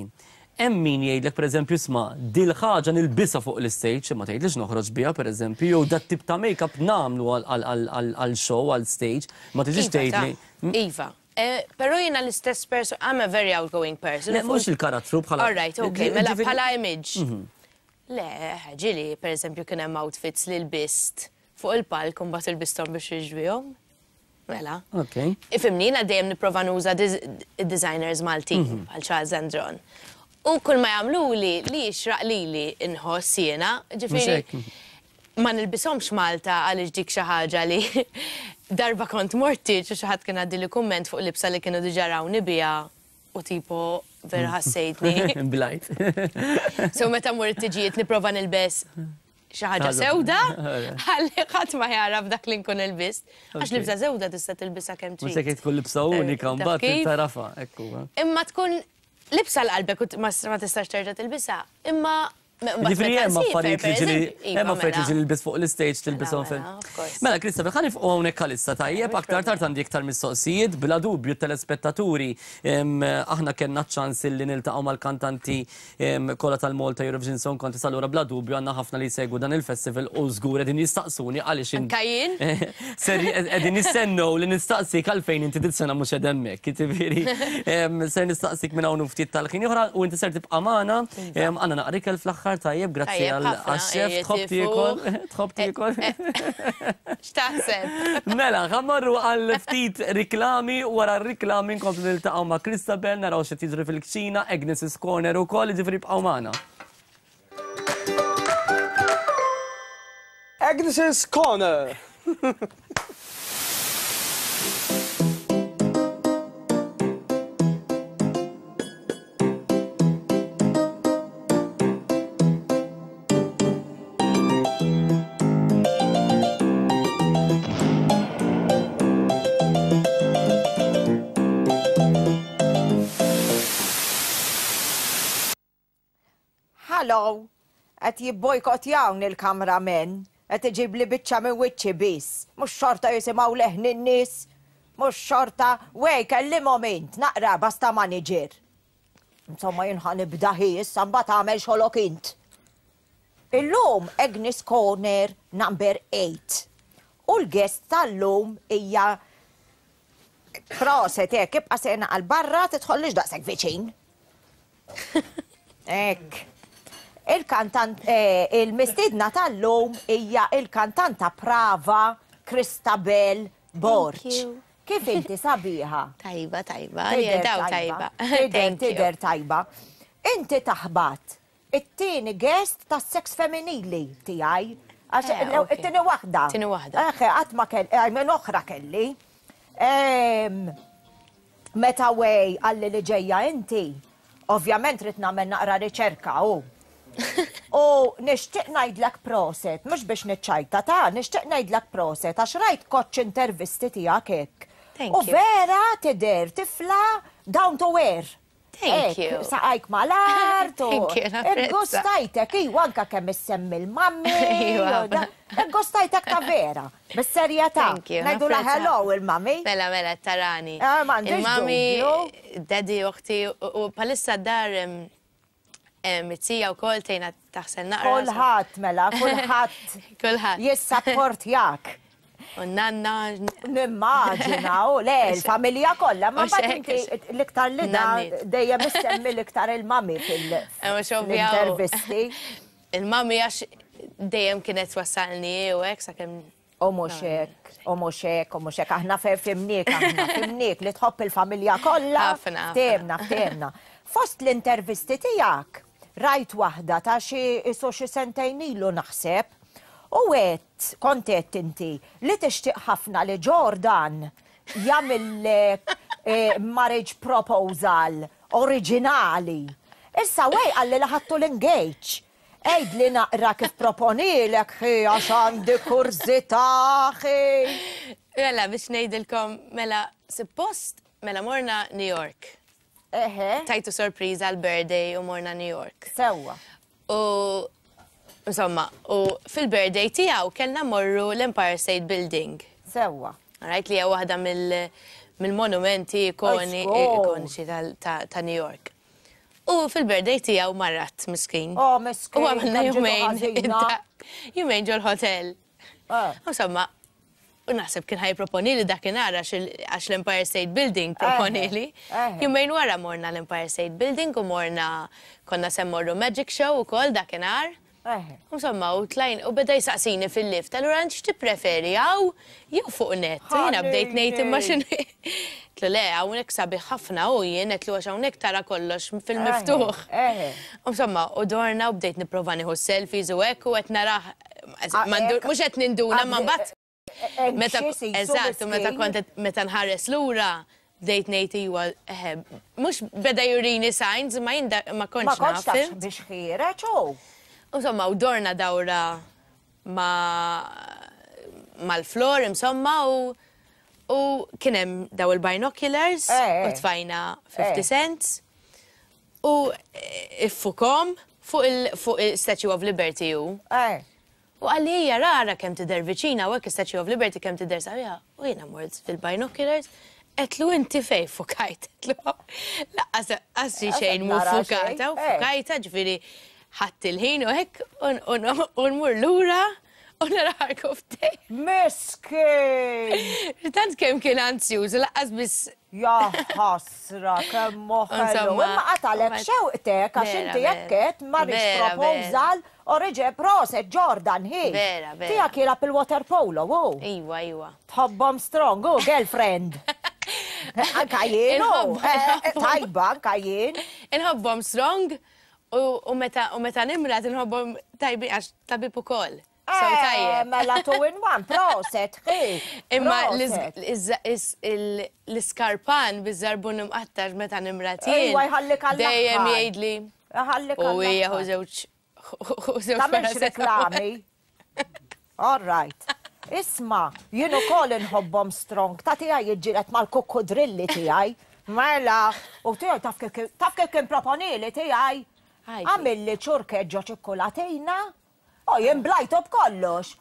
A: hemm min jgħidlek pereżempju isma' dil-ħaġa nilbisha fuq l-istage, imma tgħidlix noħroġ biha pereżempju, jew dat-tip ta' make-up nagħmlu għal show, għal stage, ma tiġix tgħidli.
D: Iva, Però jiena l-istess person, I'm a very outgoing person.
A: Le, mhux il-karattru bħala.
D: All right, okay, mela bħala image. Le, ġieli, per eżempju, kien hemm outfits li lbist fuq il-palk u mbagħad ilbisthom biex jiġbihom. Mela.
A: Ok.
D: Ifhimni, jiena dejjem nipprova nuża designers Maltin bħal Charles Andron. U kull ma jagħmluli li jixraq lili nħoss jiena, ġifieri. Ma nilbishomx Malta għaliex dik xi ħaġa li darba kont mort tieġ u xi ħadd kien għaddieli kumment fuq libsa li kienu diġà rawni biha u tipo vera ħassejtni.
A: Blajt.
D: So meta mmur it-tiġijiet nipprova nilbes xi ħaġa sewda ħalli ħadd ma jagħraf dak li nkun ilbist. Għax libsa sewda tista' tilbisha kemm trid.
A: Mhux hekk tkun libsa unika mbagħad tagħrafha, hekk huwa.
D: Imma tkun libsa 'l qalbek u ma tistax terġa' tilbisha. Imma
A: Ġifieri hemm affarijiet li ġieli
D: iva,
A: hemm affarijiet li
D: mela.
A: ġieli lbis fuq l-istage tilbishom fil. Mela Christopher, ħa nifqu hawnhekk għalissa tajjeb, aktar tard għandi iktar mistoqsijiet, bla dubju t-telespettaturi aħna kellna ċ-ċans li niltaqgħu mal-kantanti kollha tal-Malta Eurovision Song Contest allura bla dubju għandna ħafna li jsegwu dan il-festival u żgur qegħdin jistaqsuni għaliex
D: Anka jien.
A: Ser qegħdin jistennew li nistaqsik għalfejn inti dis-sena mhux qed hemmhekk. Jiġifieri ser nistaqsik minn hawn u ftit tal-ħin oħra u inti ser tibqa' magħna. Iva. Għandna naqra ikel fl-aħħar tajjeb, grazzi għax-xef, tħobb tiekol, tħobb tiekol.
D: X'taħseb?
A: Mela, ħa mmorru għal ftit riklami, wara r-riklami nkomplu niltaqgħu ma' Christabel, naraw x'qed jiġri fil-kċina, Agnes's Corner ukoll, jiġifieri ibqgħu magħna.
C: Agnes's Corner!
B: Hello! Qed jibbojkottjawni l-cameramen. Qed iġibli biċċa minn wiċċi biss. Mhux xorta jisimgħu leħni n-nies? Mhux xorta? Wey, kellimhom int, naqra basta manager. Insomma jien ħa nibda hi issa mbagħad agħmel xogħlok int. Illum Agnes Corner number 8. U l-guest tal-lum hija Proset, hekk, ibqa' sejna għal barra, tidħollix daqshekk viċin. Hekk. Il-kantant, eh, il-mistiedna tal-lum hija il-kantanta prava Christabel Borg. Kif inti sabiħa?
D: Tajba, tajba, daw tajba.
B: Tidher, tidher tajba. Inti taħbat. it-tieni guest tas-seks femminili tiegħi. Għax
D: Eh, ok.
B: it-tieni waħda.
D: Tieni waħda.
B: Eħe, qatt ma kelli, eh, minn oħra kelli. Em, Meta Wei qalli li ġejja inti, ovvjament rrid nagħmel naqra riċerka u. U nixtieq ngħidlek proset, mhux biex niċċajta ta' nixtieq ngħidlek proset għax rajt koċċ intervisti tiegħek hekk.
D: Thank
B: U
D: you.
B: vera tidher tifla down to earth.
D: Thank
B: Hekk,
D: you.
B: Saqajk mal-art u.
D: Thank you, napprezza.
B: Gustajtek, iwa anka kemm issemmi l-mammi.
D: Iwa.
B: u da- Gustajtek ta' vera, bis-serjetà.
D: Thank you.
B: Ngħidu la
D: napprezza.
B: hello il-mami.
D: Mela, mela, tarani.
B: Eh, m'għandix
D: Il-mami,
B: dubju.
D: daddy, uħti, u palissa dar it-tija u kol tejna taħsel naqra.
B: Kulħadd mela, kulħadd
D: Kulħadd.
B: jissapportjak.
D: U nanna.
B: Nimmaġina, u le, l-familja kollha, ma
D: U
B: mbagħad
D: xek,
B: inti l-iktar li da
D: Nanniet.
B: dejjem issemmi l-iktar il-mami
D: Mhux ovvja, u-
B: fil-intervisti.
D: Il-mami għax dejjem kienet twassalni u hekk sakemm
B: U mhux hekk, u mhux hekk, u mhux hekk, aħna fimniek, aħna fimniek li tħobb il-familja kollha.
D: Ħafna, ħafna.
B: Ftehimna, ftehimna. Fost l-intervisti tiegħek, rajt waħda ta' xi isu xi sentejn ilu naħseb, u għedt, kont għedt inti, li tixtieq ħafna li Jordan jagħmillek eh, marriage proposal oriġinali. Issa Wei qalli li ħadtu l-engage. Għidli naqra kif proponilek ħi għax għandi kurżità ħi.
D: Mela, biex ngħidilkom, mela, suppost, mela morna New York.
B: Eħe,
D: Tajtu sorpriża għal-birthday u morna New York.
B: sewwa.
D: U insomma, u fil-birthday tiegħu kellna morru l-Empire State Building.
B: Sewwa.
D: Right, li hija waħda mill- mill-monumenti ikoni
B: Żgur.
D: ikoniċi tal- ta' ta' New York. U fil-birthday tiegħu marad miskin.
B: Oh, miskin,
D: U għamilna
B: kemm ġitu
D: jumejn.
B: ħażina.
D: Jumejn ġol-hotel.
B: Eh.
D: Insomma, u naħseb kien ħa jipproponili dakinhar għax il- għax l-Empire State Building proponili.
B: eħe.
D: Jumejn wara morna l-Empire State Building u morna konna se mmorru Magic Show u kol dakinhar.
B: Eħe.
D: Insomma, u tlajn, u beda jisaqsini fil-lift, allura int x'tippreferi hawn jew fuq net. U jiena bdejt ngħid imma x'inhu. Għedtlu le, hawnhekk sabiħ ħafna u jien għedtlu għax hawnhekk tara kollox fil-miftuħ.
B: Eħe.
D: Insomma, u dorna u bdejt nipprova nieħu selfies u hekk u qed narah
B: Ah, hekk.
D: mhux qed ninduna ma mbagħad meta
B: Anxious jisu
D: eżatt, u meta
B: miskin.
D: kont qed- meta nħares lura bdejt ngħid iwa eħe, mhux beda jurini signs ma jien da- ma
B: Ma
D: kontx
B: kontx
D: naf.
B: tafx biex ħiereġ u.
D: Insomma, u dorna dawra ma mal-floor, insomma, u u kien hemm daw il-binoculars
B: Eh,
D: u tfajna 50
B: Eh.
D: cents u iffukom fuq il fuq il-Statue of Liberty u.
B: Eh.
D: U qalli hija rara kemm tidher viċina u hekk Statue of Liberty kemm tidher sabiħa. U jiena mort fil-binoculars, għedtlu inti fej fukajt. Għedtlu lanqas qassi xejn mu
B: nara
D: fukata u
B: xejn, eh.
D: fukajta ġifieri ħadd il-ħin u hekk u nmur lura u naraħarku ftej.
B: Miskin!
D: Tant kemm kien anzjuż, lanqas biss
B: Ja ħasra, kemm moħħelu.
D: Insomma,
B: Imma qatalek
D: ma-
B: xewqtek għax
D: Vera,
B: inti
D: vera.
B: jekket marriage
D: Vera,
B: proposal oriġe proset Jordan hi.
D: Vera, vera.
B: Tiegħek jilgħab il-water polo, u.
D: Iwa, iwa.
B: Tħobbhom strong, u girlfriend. Anka jien, u.
D: Inħobb-
B: Eh, eh,
D: inħobbhom.
B: Tajba, anka jien.
D: Inħobbhom strong u meta u meta nimrad inħobbhom tajbi għax tabib ukoll. So
B: Eh,
D: tajjeb.
B: Mela two in one, proset, hi.
D: Imma
B: proset.
D: l-iskarpan biż-żarbun imqattax meta nimrad jien.
B: Ejwa, jħallik għall-aħħar.
D: Dejjem jgħidli.
B: Ħallik
D: U hija
B: għall-aħħar.
D: hu żewġ hu żewġ
B: Tagħmilx
D: paracetamol.
B: reklami. All right. Isma, jien ukoll inħobbhom strong. Ta' tiegħi jiġġieled mal-kukkudrilli tiegħi. Mela, u tiegħi taf kif taf kif kien proponili tiegħi.
D: Għajdi.
B: Għamilli ċurket ġo ċikkolatina. U jien blajtu b'kollox.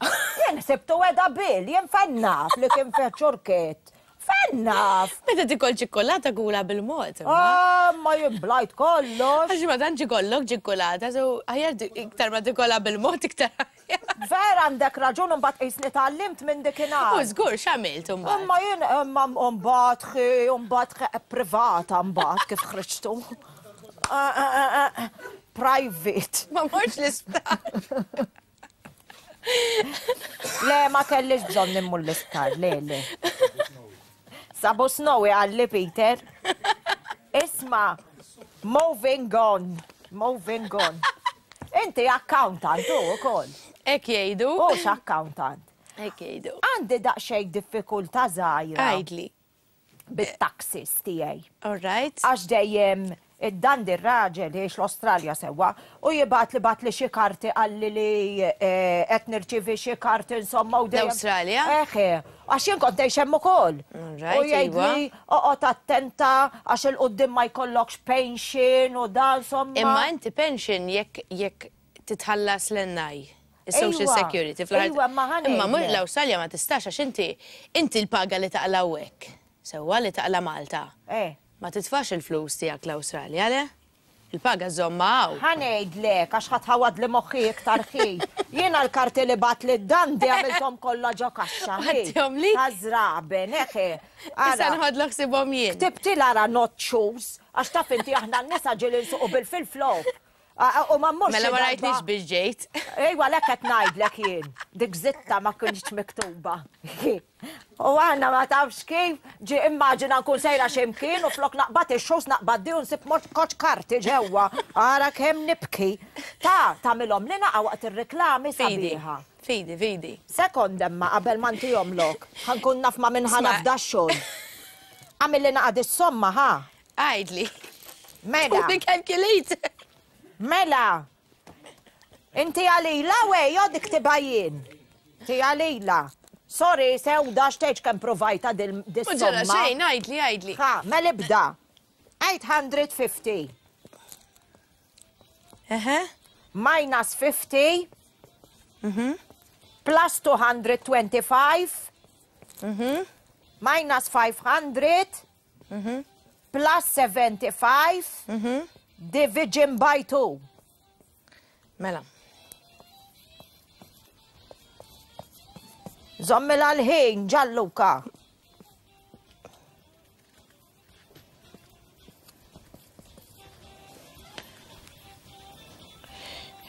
B: Jien sibtu weda bil, jien fennaf li kien fih ċurket. Fennaf.
D: Meta tikol ċikkolata kula bil-mod. imma.
B: Ah, ma jien blajt kollox.
D: Għax ma tantx ikollok ċikkolata, so aħjar iktar ma tikolla bil-mod iktar. aħjar.
B: Vera għandek raġun mbagħad qisni tgħallimt minn dikinhar.
D: U żgur x'għamilt imbagħad.
B: Imma jien imma mbagħad ħi mbagħad ħi privata mbagħad kif ħriġtu. Ah, ah, ah, ah, Private.
D: Ma morx l-isptar.
B: Le ma kellix bżonn immur l-isptar, le le. Sabu snowi qalli Peter. Isma, moving on, moving on. Inti accountant u ukoll.
D: Hekk jgħidu.
B: Hux accountant.
D: Hekk jgħidu.
B: Għandi daqsxejn diffikultà żgħira.
D: Għidli.
B: Bit-taxis tiegħi.
D: All right.
B: Għax dejjem id-dandi r-raġel jgħix l-Awstralja sewwa u jibgħatli bagħatli xi karti qalli li qed nirċievi xi karti insomma u dejjem.
D: L-Awstralja?
B: Eħe. Għax jien kont ngħix hemm ukoll.
D: All right,
B: U jgħidli oqgħod attenta għax 'il quddiem ma jkollokx pension u da insomma.
D: Imma inti pension jekk jekk titħallas l-NI, is-Social
B: Ejwa,
D: Security fl-aħħar.
B: ejwa, imma ħa
D: Imma mhux
B: ngħidlek.
D: l-Awstralja ma tistax għax inti inti l-paga li taqla' hawnhekk, sewwa li taqla' Malta.
B: Eh.
D: Ma titfax il-flus tiegħek l-Awstralja, le? Il-paga żżommha hawn.
B: Ħa ngħidlek għax ħa tħawwadli moħħi iktar ħi. Jiena l-karti li bagħatli d-Dandi għamilthom kollha ġo kaxxa ħi.
D: Ħadthomli?
B: Ta' żraben, eħe.
D: Issa nħodlok ħsibhom jien.
B: Ktibtilha ara not shoes, għax taf inti aħna n-nisa ġieli nsuqu bil-flip-flop. U ma mmurx
D: Mela ma
B: xi
D: rajtnix
B: darba.
D: biex ġejt.
B: Ejwa lek qed ngħidlek jien. Dik zitta ma kienx miktuba. U għanna ma tafx kif, ġi immaġina nkun sejra x'imkien u flok naqbad ix-xus naqbad di u nsib mod koċ karti ġewwa. Ara kemm nibki. Ta' tagħmilhom li naqa' waqt ir-reklami
D: Fidi.
B: sabiħa.
D: Fidi, fidi.
B: Sekond emma qabel ma ntihomlok. Ħa nkun naf ma' min ħa
D: Isma'.
B: nafda x-xogħol. Għamilli naqa' dis-somma ħa.
D: Għidli.
B: Mela.
D: Tuni calculator.
B: Mela. Inti għalila wej, jo dik tibha jien. Inti għalila. Sorry, sewda xtejġ kemm provajta
D: U ġara
B: dil-somma.
D: xejn, għidli, għidli.
B: Ha, mela ibda. 850
D: Eħe.
B: minus 50 plus 225 minus 500 plus 75 division by 2.
D: Mela.
B: Zommila l-ħin, Gianluca.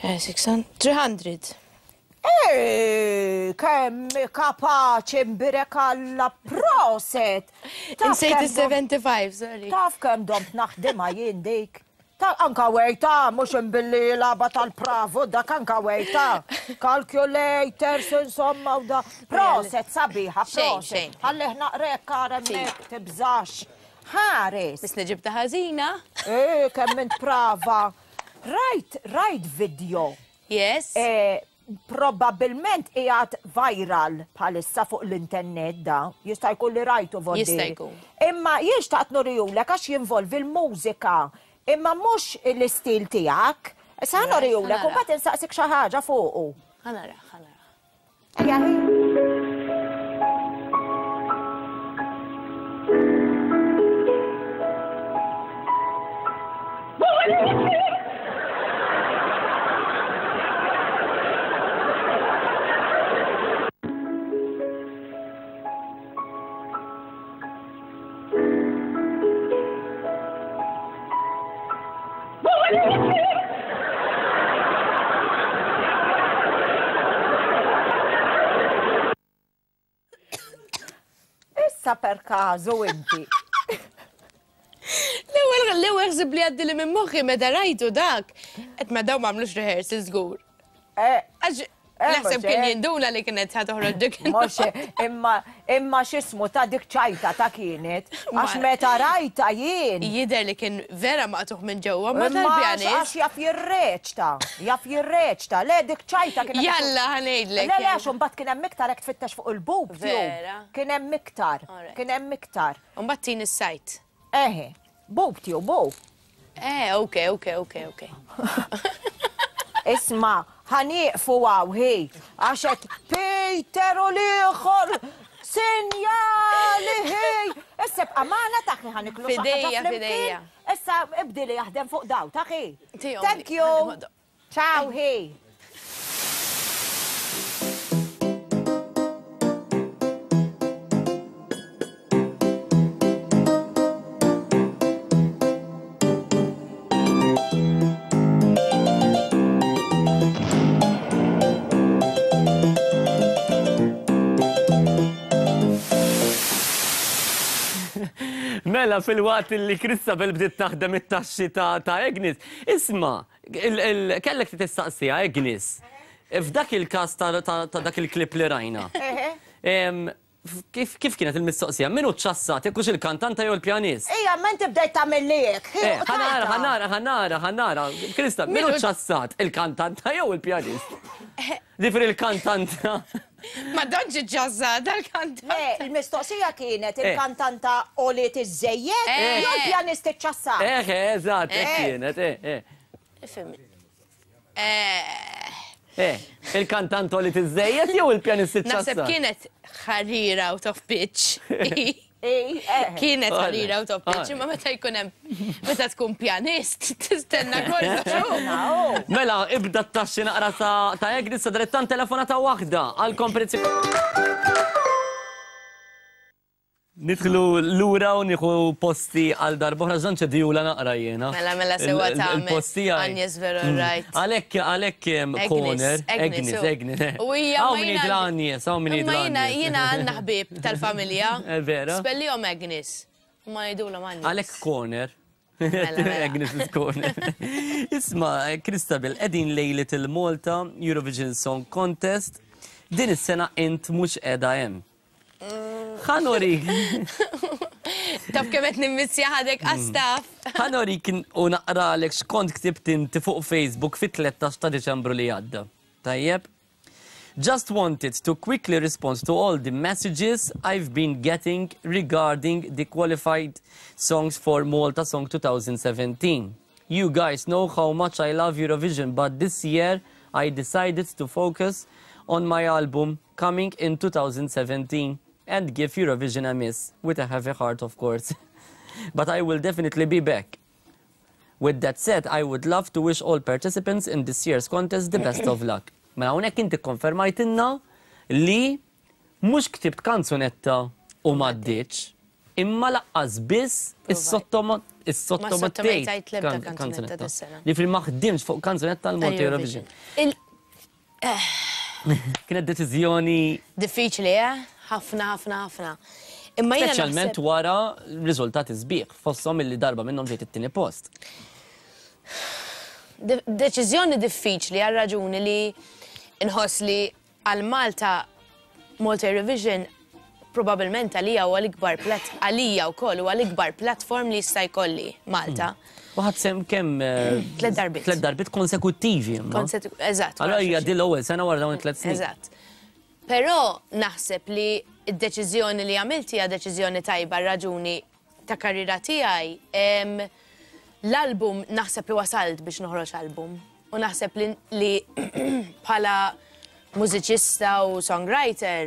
D: Eh, 600, 300.
B: Ej, kemm kapaċi mbirek alla proset. Taf
D: Insejt
B: kemm dom-
D: il-75, sorry.
B: Taf kemm domt naħdimha jien dik. Ta' anka wejta, mhux imbilli laba tal-pravu, dak anka wejta. Calculators, insomma, u da. Proset, sabiħa,
D: Xejn,
B: proset.
D: xejn.
B: Ħallih naqrek, karemmek, tibżax. Ħares.
D: Biss ġibta ħażina.
B: Eh, kemm int prava. Rajt, rajt video.
D: Yes.
B: Eh, Probabilment qiegħed viral bħalissa fuq l-internet da. Jista' jkun li rajtu voddi.
D: Jista' jkun.
B: Imma jien xtaqt nurijulek għax jinvolvi l-mużika. Imma mhux l-istil tiegħek. Issa ħa nurijulek u
D: ħanara.
B: mbagħad insaqsik xi ħaġa fuqu.
D: Ħanara, ħanara.
B: Ejja, hi. Issa per każu inti.
D: L-ewwel l-ewwel ħsib li għaddi li minn moħħi meta rajtu dak. Qed ma daw m'għamlux rehearsal żgur.
B: Eh,
D: Għax
B: Eh,
D: naħseb
B: mhux
D: kien
B: hekk.
D: jinduna li kienet ħa toħroġ dik.
B: Mhux imma imma x'ismu ta' dik ċajta ta' kienet. Għax
D: Ma-
B: meta rajta jien.
D: Jidher li kien vera maqtuħ minn ġewwa ma
B: Imma għax
D: tal-pjanist.
B: għax jaf jirreċta, jaf jirreċta. Le dik ċajta kienet.
D: Jalla ħa ngħidlek.
B: Le, le, għax imbagħad kien hemm iktar hekk tfittex fuq il-bub tube.
D: Vera.
B: Kien hemm iktar,
D: Alright.
B: kien hemm iktar.
D: U mbagħad tin is-sajt.
B: Eħe, bub tube, bub.
D: Eh, ok, ok, ok, ok.
B: Isma, ħanieqfu għaw, hi, għax qed Peter u l-ieħor sinjali hi. Issa bqa' magħna taħi ħaniklu xi ħaġa
D: Fidejja,
B: flimkien.
D: fidejja.
B: Issa ibdi li jaħdem fuq daw, taħi.
D: Tihom
B: Thank
D: li.
B: you. Ciao, hi.
A: Mela fil-waqt li Christabel bdiet taħdem it-taxxi ta' ta' Agnes, isma' Kellek tistaqsiha, Agnes. F'dak il-każ ta' dak il-klip li rajna. Kif kienet il-mistoqsija? Min hu ċassat, jekk hux il-kantanta jew il-pjanist?
B: Ija, ma inti bdejt tagħmilli hekk.
A: Ħa nara, ħa nara, ħa nara, ħa nara. Krista, min hu ċassat, il-kantanta jew il-pjanist? Ġifieri il-kantanta.
D: Ma tantx iċċassata l-kantanta.
B: Le, il-mistoqsija kienet il-kantanta għoliet iżżejjed jew il-pjanist iċċassat?
A: Eh, eżatt, hekk kienet, eh.
D: Ifhimni.
A: Eh, il-kantant għoliet iżżejjed jew il-pjanist iċċassat?
D: Naħseb kienet ħarira out of pitch. Kienet ħarira out of pitch, imma meta jkun hemm meta tkun pjanist tistenna kollox.
A: Mela, ibda t-taxxi naqra ta' Agnes sadanittant telefonata waħda għal kompetizzjoni. Nidħlu lura u nieħu posti għal darb'oħra, żonn ċedijula naqra jiena.
D: Mela, mela, sewwa tagħmel.
A: Il-post tiegħi.
D: Agnes vera right.
A: Għalhekk, għalhekk corner. Agnes, Agnes.
D: U hija
A: Hawn min jgħidilha Agnes, hawn min jgħidilha
D: Imma jiena,
A: Agnes.
D: jiena għandna ħbieb tal-familja.
A: Vera?
D: Spellihom Agnes. Ma jgħidulhom Agnes.
A: Għalhekk corner.
D: Mela, mela.
A: Agnes is corner. Isma', Christabel, qegħdin lejliet il-Malta Eurovision Song Contest. Din is-sena int mhux qiegħda hemm. Ħa norik.
D: Taf kemm qed nimmissja ħadek għas-staff.
A: Ħa norik u naqralek x'kont ktibt inti fuq Facebook fit-13 ta' Diċembru li għadda. Tajjeb? Just wanted to quickly respond to all the messages I've been getting regarding the qualified songs for Malta Song 2017. You guys know how much I love Eurovision, but this year I decided to focus on my album coming in 2017 and give Eurovision a miss, with a heavy heart of course. But I will definitely be back. With that said, I would love to wish all participants in this year's contest the best of luck. Mela hawnhekk inti kkonfermajtilna li mhux ktibt kanzunetta u m'għaddietx, imma laqqas biss issottomettejt kanzunetta. Jiġifieri ma ħdimtx fuq kanzunetta għal Malta Eurovision. Kienet deċiżjoni.
D: Diffiċli, eh? Ħafna, ħafna, ħafna. Imma jiena.
A: Speċjalment wara riżultati sbieħ, fosthom illi darba minnhom ġejt it-tieni post.
D: Deċiżjoni diffiċli għal raġuni li nħoss li għal Malta Malta Eurovision probabbilment għalija huwa l-ikbar plat għalija wkoll huwa l-ikbar platform li jista' jkolli Malta.
A: U ħadt sehem kemm?
D: Tliet darbiet.
A: Tliet darbiet konsekuttivi imma.
D: Eżatt.
A: Allura hija din l-ewwel sena wara dawn it-tliet snin.
D: Eżatt. Però naħseb li d-deċiżjoni li għamilt hija deċiżjoni tajba raġuni ta' karriera tiegħi. L-album naħseb li wasalt biex noħroġ album. U naħseb li bħala mużiċista u songwriter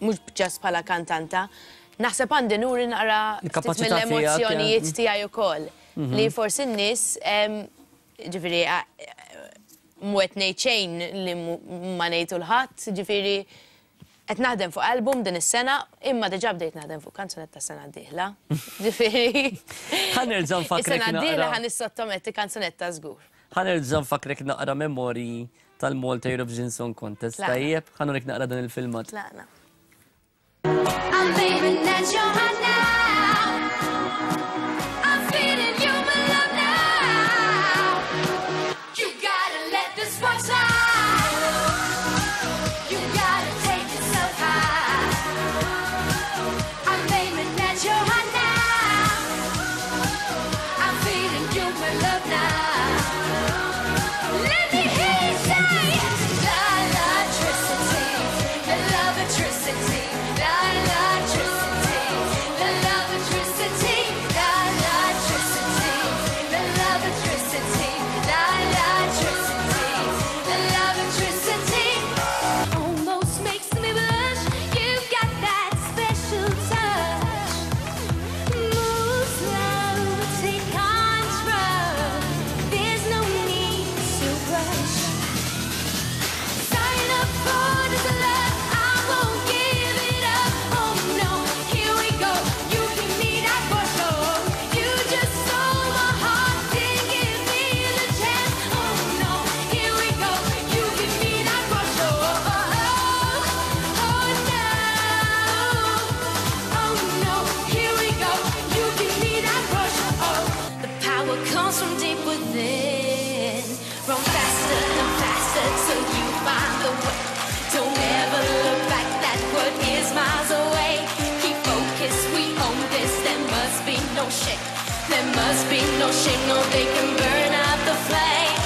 D: mhux just bħala kantanta, naħseb għandi nuri naqra ftit mill-emozzjonijiet tiegħi wkoll. Mhm. Li forsi n-nies, ġifieri mhu qed ngħid xejn li ma ngħidu l-ħadd, ġifieri qed naħdem fuq album din is-sena, imma diġà bdejt naħdem fuq kanzunetta sena d-dieħla. Ġifieri.
A: Ħa nerġa' nfakkrek.
D: Is-sena d-dieħla ħa nissottometti kanzunetta żgur.
A: Ħa nerġa' nfakkrek naqra memorji tal-Malta Eurovision Song Contest. Tajjeb, ħa nurik naqra dan il-filmat.
D: Tlaqna.
F: I'm aiming at your heart now. I'm feeling human love now. You gotta let this one slide. You gotta take yourself high. I'm aiming at your heart now. I'm feeling human love now. Let me hear you say, La electricity, the love electricity, la electricity, no shame, no, they can burn out the flame.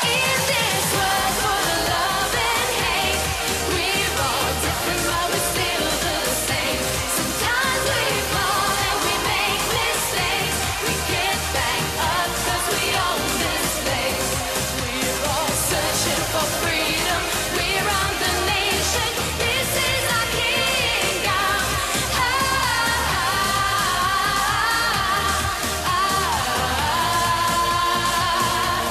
F: In this world full of love and hate, we're all different, but we're still the same. Sometimes we fall and we make mistakes. We get back up 'cause we own this place. We're all searching for freedom. We're on the nation. This is our kingdom. Ah, ah, ah, ah.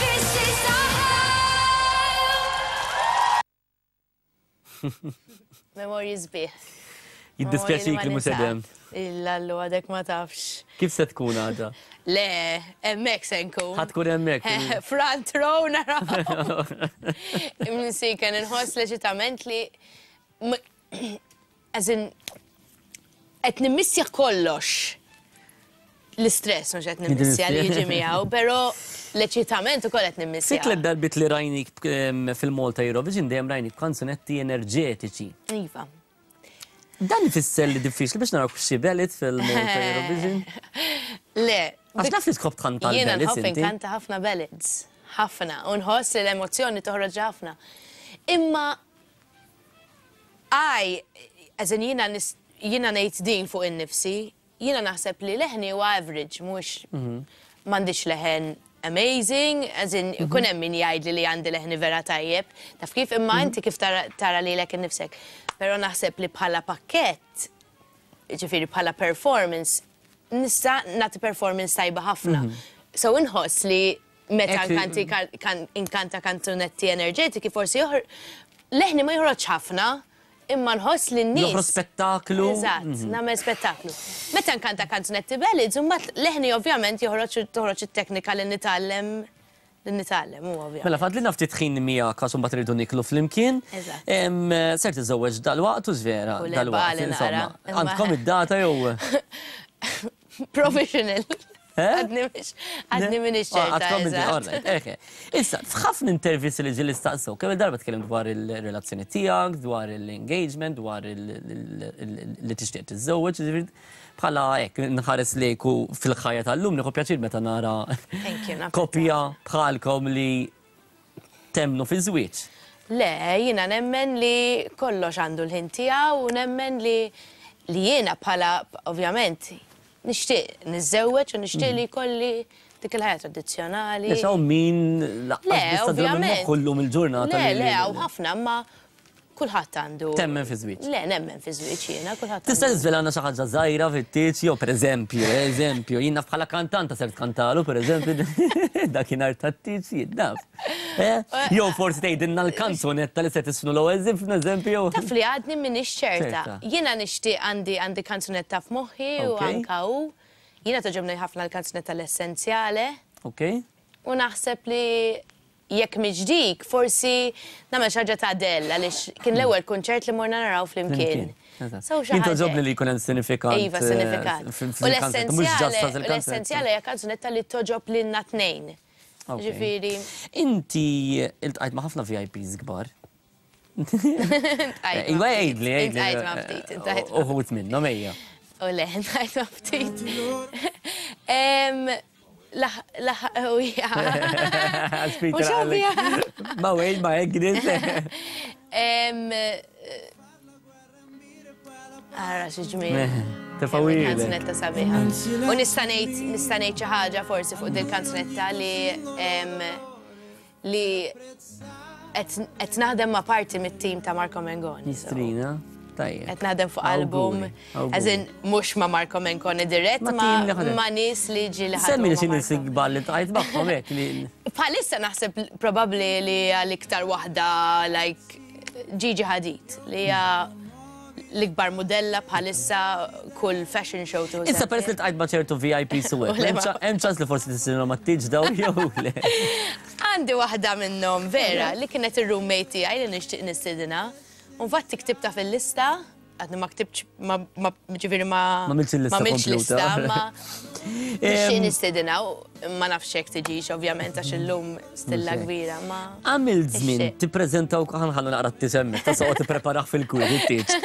F: This is our home.
D: Memorji sbieħ.
A: Jiddispjaċik li mhux edem.
D: Illallu għadek ma tafx.
A: Kif se tkun għada?
D: Le, hemmhekk se nkun.
A: Ħa tkun hemmhekk.
D: Front row naraw. Imsiken inħoss leġitament li as in qed nimmissja kollox. L-istress mhux qed nimmissja li jiġi miegħu, però l-eċitament ukoll qed nimmissja.
A: Fit darbit li rajnik fil-Malta Eurovision dejjem rajnik kanzunetti enerġetiċi.
D: Iva.
A: Dan ifisser li diffiċli biex naraw xi ballad fil-Malta Eurovision.
D: Le.
A: Għax naf li tħobb tkanta
D: Jiena
A: l-ballads
D: nħobb
A: inti.
D: inkanta ħafna ballads. Ħafna. U nħoss li l-emozzjoni toħroġ ħafna. Imma għaj, as in jiena jiena ngħid din fuq in-nifsi, jiena naħseb li leħni huwa average, mhux m'għandix leħen amazing, as in ikun hemm min jgħidli li għandi leħni vera tajjeb, taf kif imma inti kif tara lilek innifsek. Però naħseb li bħala pakkett, ġifieri bħala performance, nista' nagħti performance tajba ħafna. So inħoss li meta inkanta kanzunetti enerġetiki forsi leħni ma joħroġ ħafna, imma nħoss li n-nies.
A: Joħroġ spettaklu.
D: Eżatt, nagħmel spettaklu. Meta nkanta kanzunetti ballads, imbagħad leħni ovvjament joħroġ toħroġ it-teknika li nitgħallem, u ovvjament.
A: Mela, fadlilna ftit ħin miegħek għax imbagħad irridu niklu flimkien.
D: Eżatt.
A: Ser tiżżewweġ dal-waqt u żvera,
D: U le,
A: dal-waqt,
D: bali
A: insomma.
D: nara.
A: Għandkom id-data jew?
D: Provisional.
A: Eh?
D: Għadni minix
A: Ah,
D: ċerta.
A: għadkom
D: eżatt.
A: all right, eħe. Issa, f'ħafna intervisti li ġieli staqsew, kemm il-darba tkellim dwar il-relazzjoni tiegħek, dwar il-engagement, dwar li tixtieq tiżżewweġ, ġifieri, bħala hekk nħares lejku fil-ħajja tal-lum nieħu pjaċir meta nara
D: Thank you, napprezza.
A: koppja bħalkom li temmnu fi żwieġ.
D: Le, jiena nemmen li kollox għandu l-ħin tiegħu u nemmen li jiena bħala, ovvjament, nixtieq niżżewweġ u nixtieq li jkolli dik il-ħajja tradizzjonali.
A: Issa min
D: Le,
A: laqqas
D: ovvjament.
A: kullum il-ġurnata.
D: Le, le, hawn ħafna, ma kulħadd għandu.
A: Temmen fi żwieġ.
D: Le, nemmen fi żwieġ jiena, kulħadd.
A: Tista'
D: għandu.
A: tiżvelana xi ħaġa żgħira fit-tieġ jew pereżempju, eżempju, jiena bħala kantanta ser tkantalu pereżempju dakinhar tat-tieġ jien naf. Eh? Jew forsi tgħidilna l-kanzunetta li se tisnu l-ewwel żifna eżempju.
D: Taf li għadni minix ċerta.
A: Ċerta.
D: Jiena nixtieq għandi kanzunetta f'moħħi u anka u. Jiena togħġobni ħafna l-kanzunetta l-essenzjale.
A: Ok.
D: U naħseb li jekk mhix dik, forsi nagħmel xi ħaġa ta' Adele għaliex kien l-ewwel kunċert li morna naraw flimkien.
A: Eżatt.
D: So xi
A: Jien
D: ħaġa
A: togħġobni li jkun hemm sinifikat.
D: Iva, sinifikat. U
A: fil-kanzunetta, mhux just
D: l-essenzjale,
A: il-kanzunetta.
D: l-essenzjale hija kanzunetta li togħġob lilna tnejn. Ġifieri,
A: Inti iltqajt ma' ħafna VIPs kbar.
D: Iltqajt ma'
A: Iva
D: ftit,
A: għidli, għidli.
D: Iltqajt ma' ftit, iltqajt ma'
A: Uħut minnhom ejja.
D: U le, iltqajt ma' ftit. Laħ, laħ, u ja.
A: Peter
D: Mhux
A: għalek.
D: ovvja.
A: Ma wejn, ma Agnes.
D: Ara xi ġmiel.
A: Tefawili.
D: Kanzunetta sabiħa. U nista' ngħid xi ħaġa forsi fuq din kanzunetta li qed naħdem ma' parti mit-tim ta' Marco Mengoni. So
A: Nistrina. Tajjeb.
D: Qed naħdem fuq album,
A: Awguri,
D: as in mhux ma' Marco Mengoni dirett,
A: Ma'
D: ma'
A: tim li ħadem.
D: ma' nies li ġi li ħadmu
A: Semmi li
D: ma'
A: xi
D: Marco.
A: nies kbar li ltqajt magħhom hekk li.
D: Bħalissa naħseb probabbli li għal-iktar waħda like Gigi Hadid li hija l-ikbar modella bħalissa kull fashion show tu.
A: Issa peress li ltqajt ma' ċertu VIP su
D: U le ma-
A: Hemm ċans li forsi tisilhom ma tiġ daw jew le.
D: Għandi waħda minnhom vera li kienet ir-roommate tiegħi li nixtieq nistidina. U infatti ktibta fil-lista. Għadni ma ktibtx, ma ġifieri ma.
A: Ma għamiltx il-lista
D: Ma għamiltx lista,
A: kompluta.
D: ma. Nixtieq nistedinha u ma nafx hekk tiġix ovvjament għax illum stilla
A: Mhux hekk.
D: kbira, ma.
A: Għamilt żmien
D: Nixtieq.
A: tippreżenta wkoll ħanħallu naqra t-tisemmek, ta' soqgħod tippreparah fil-kwiet it-tieġ.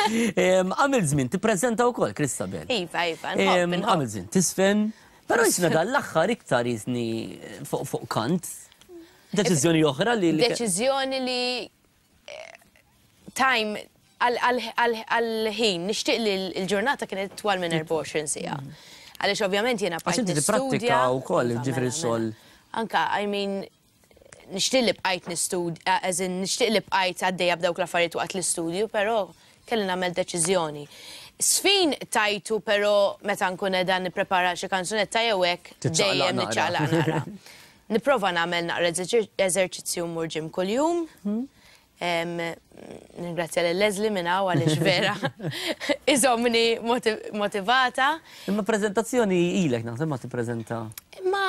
A: Għamilt żmien tippreżenta wkoll Christabel.
D: Iva, iva, nħobb, nħobb.
A: Għamilt żmien tisfen, però jisna dan l-aħħar iktar jisni fuq fuq kant. Deċiżjoni oħra li li-
D: Deċiżjoni li eh, time għal-ħin, nixtieq li l-ġurnata kienet twal minn 24 siegħa. Għaliex ovvjament jiena
A: Għax
D: bqajt
A: inti
D: nistudja.
A: tipprattika wkoll,
D: Iva,
A: ġifieri
D: mela,
A: x-xogħol.
D: mela. Anka, I mean, nixtieq li bqajt nistudja, as in, nixtieq li bqajt għaddejja b'dawk l-affarijiet waqt l-istudju, però kelli nagħmel deċiżjoni. Sfin tajtu, però meta nkun qiegħda nipprepara xi kanzunetta jew hekk,
A: Tiċċaqlaq
D: dejjem
A: naqra.
D: niċċaqlaq naqra. Nipprova nagħmel naqra eżerċizzju mmur gym kuljum. Ningrazzja lil Leslie minn hawn għaliex vera iżommni motivata.
A: Imma preżentazzjoni ilek naħseb ma tippreżenta.
D: Imma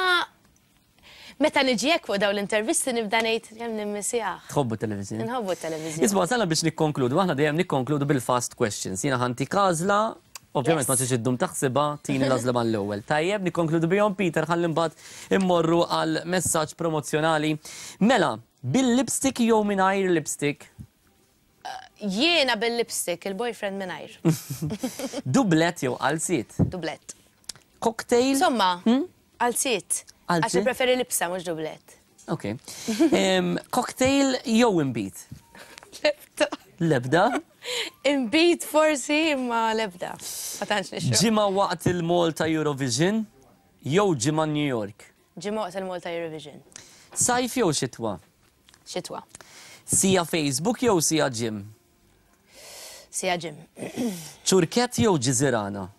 D: meta niġi hekk fuq dawn l-intervisti nibda ngħid kemm nimmisjah.
A: Tħobbu televiżjoni.
D: Nħobbu t-televiżjoni.
A: Isma' sala biex nikkonkludu, aħna dejjem nikkonkludu bil-fast questions. Jiena ħa ntik għażla, ovvjament ma
D: Yes.
A: tix iddum taħsibha, tini l-għażla mal-ewwel. Tajjeb, nikkonkludu bihom Peter ħalli mbagħad immorru għal messaġġ promozzjonali. Mela, bil-lipstick jew mingħajr lipstick?
D: Jiena bil-lipstick, il-boyfriend mingħajr.
A: Dublet jew qalziet?
D: Dublet.
A: Cocktail?
D: Insomma, qalziet. Għax
A: Qalziet?
D: preferi libsa mhux dublet.
A: Ok. Cocktail jew inbid?
D: Lebda.
A: Lebda?
D: Inbid forsi imma lebda. Ma tantx nixrob.
A: Ġimgħa waqt il-Malta Eurovision jew ġimgħa New York?
D: Ġimgħa waqt il-Malta Eurovision.
A: Sajf jew xitwa?
D: Xitwa.
A: Siegħa Facebook jew siegħa gym?
D: Siegħa gym.
A: Ċurkett jew ġiżirana?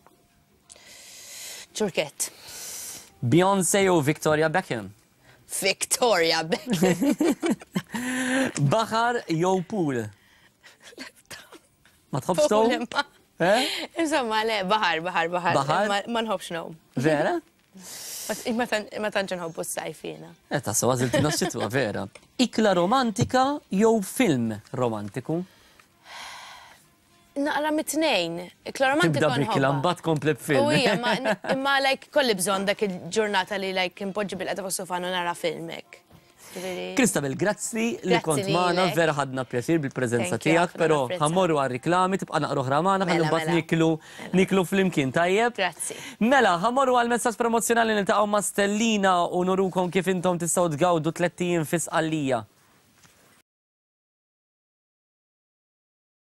D: Ċurkett.
A: Beyoncé jew Victoria Beckham?
D: Victoria Beckham.
A: Baħar jew pool? Ma tħobbx
D: Pool
A: tgħum?
D: imma.
A: Eh?
D: Insomma, le, baħar, baħar, baħar.
A: Baħar?
D: Ma nħobbx ngħum.
A: Vera?
D: Ma tantx nħobbu s-sajf jiena.
A: Eh, ta' so għażiltina x-xitwa, vera. Ikla romantika jew film romantiku?
D: Naqra mit-tnejn. Ikla romantika
A: Tibda b'ikla
D: nħobbha.
A: mbagħad kompli b'film.
D: U hija, ma- imma like kolli bżonn dak il-ġurnata li like impoġġi bil-qeda fuq sofan u nara film hekk. Ġifieri-
A: Christabel, grazzi li
D: Grazzi
A: kont magħna,
D: lilek.
A: vera ħadna pjaċir bil-preżenza
D: Thank you,
A: tiegħek,
D: ħafna
A: però
D: napprezza.
A: ħa mmorru għal-riklami, tibqa' naqra oħra magħna, ħalli
D: Mela,
A: mbagħad
D: mela.
A: niklu niklu flimkien, tajjeb?
D: Grazzi.
A: Mela, ħa mmorru għal messaġġ promozzjonali niltaqgħu ma' Stellina u nurukom kif intom tistgħu tgawdu 3 ijiem fi Sqallija.